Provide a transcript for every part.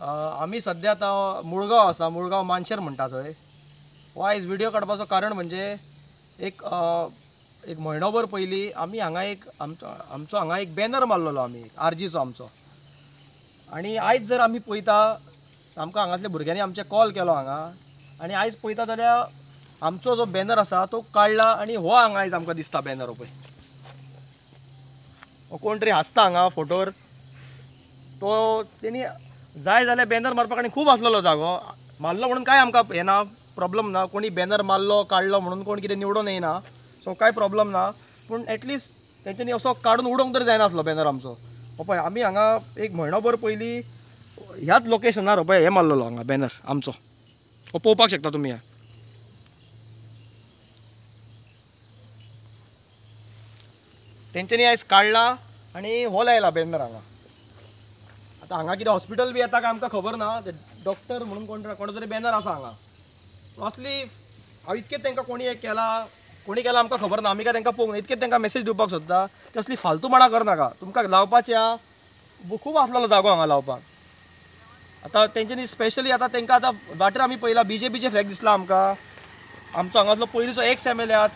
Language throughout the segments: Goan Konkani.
आमी सद्या आतां मुळगांव आसा, मुळगांव मानशेर म्हणटा थंय. हो आयज व्हिडियो काडपाचो कारण म्हणजे एक एक म्हयनोभर पयलीं आमी हांगा एक आमचो हांगा एक बॅनर मारलेलो आमी आरजीचो आमचो. आनी आयज जर आमी पळयता आमकां हांगासल्या भुरग्यांनी आमचे कॉल केलो हांगा, आनी आयज पळयता जाल्यार आमचो जो बॅनर आसा तो काडला आनी हो हांगा आयज आमकां दिसता बॅनर. पळय हो कोण तरी हांसता हांगा फोटोर, तो तेणी जाय जाल्यार बॅनर मारपाक आनी खूब आसलेलो जागो मारलो म्हणून कांय आमकां हें ना, प्रॉब्लम ना. कोणी बॅनर मारलो काडलो म्हणून कोण कितें निवडून येयना, सो कांय प्रॉब्लम ना. पूण एटलिस्ट तेंच्यांनी असो काडून उडोवंक तरी जायनासलो बॅनर आमचो. हो पळय आमी हांगा एक म्हयनोभर पयलीं ह्याच लोकेशनार पळय हें मारलेलो हांगा बॅनर आमचो, हो पळोवपाक शकता तुमी. तेंच्यांनी आयज काडला आनी हो लायला बॅनर हांगा. आतां हांगा कितें हॉस्पिटल बी येता काय आमकां खबर ना, ते डॉक्टर म्हणून कोण तरी बॅनर आसा हांगा. असली हांव इतकें तांकां कोणी हें केला कोणी केला आमकां खबर ना, आमी काय तांकां पळोवंक ना. इतकें तांकां मॅसेज दिवपाक सोदता की असली फालतूपणां करनाका. तुमकां लावपाचें आहा, खूब आसलेलो जागो हांगा लावपाक. आतां तेंच्यांनी स्पेशली आतां तांकां आतां वाटेर आमी पळयला बीजेपीचे फ्लॅग दिसला आमकां. आमचो हांगासलो पयलींचो एक्स एम एल ए आहा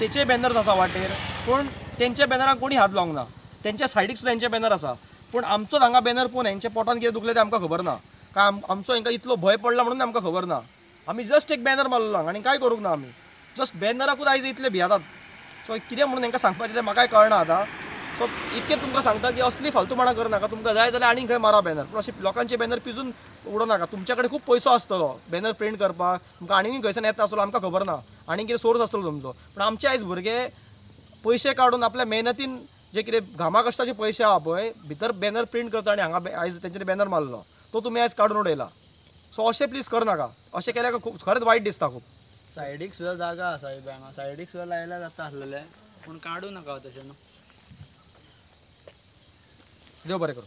तेचे बॅनर्स आसा वाटेर, पूण तेंच्या बॅनराक कोणी हात लावंक ना. तेंच्या सायडीक सुद्दां तेंचे बॅनर आसा, पूण आमचोच हांगा बॅनर पळोवन हेंच्या पोटान कितें दुखलें तें आमकां खबर ना. काय आमचो हेंकां इतलो भंय पडला म्हणून आमकां खबर ना. आमी जस्ट एक बॅनर मारलो हांगा आनी कांय करूंक ना आमी. जस्ट बॅनराकूच आयज इतले भियेतात. सो कितें म्हणून हेंकां सांगपाचें तें म्हाकाय कळना आतां. सो इतकें तुमकां सांगता की असली फालतूपणां करनाका. तुमकां जाय जाल्यार आनीक खंय मारा बॅनर, पूण अशें लोकांचे बॅनर पिजून उडोवं नाका. तुमच्या कडेन खूब पयसो आसतलो बॅनर प्रिंट करपाक, तुमकां आनीक खंयच्यान येता आसतलो आमकां खबर ना, आनीक कितें सोर्स आसतलो तुमचो. पूण आमचे आयज भुरगे पयशे काडून आपल्या मेहनतीन जे कितें घामा कश्टाचे पयशे आहा पळय भितर बॅनर प्रिंट करता आनी हांगा आयज तेंच्यांनी बॅनर मारलो तो तुमी आयज काडून उडयला. सो अशें प्लीज करनाका, अशें केल्यार खूब खरेंच वायट दिसता खूब. सायडीक सुद्दां जागा आसा हांगा, सायडीक सुद्दां लायल्यार जाता आसलेलें, पूण काडूं नाका तशें न्हू. देव बरें करूं.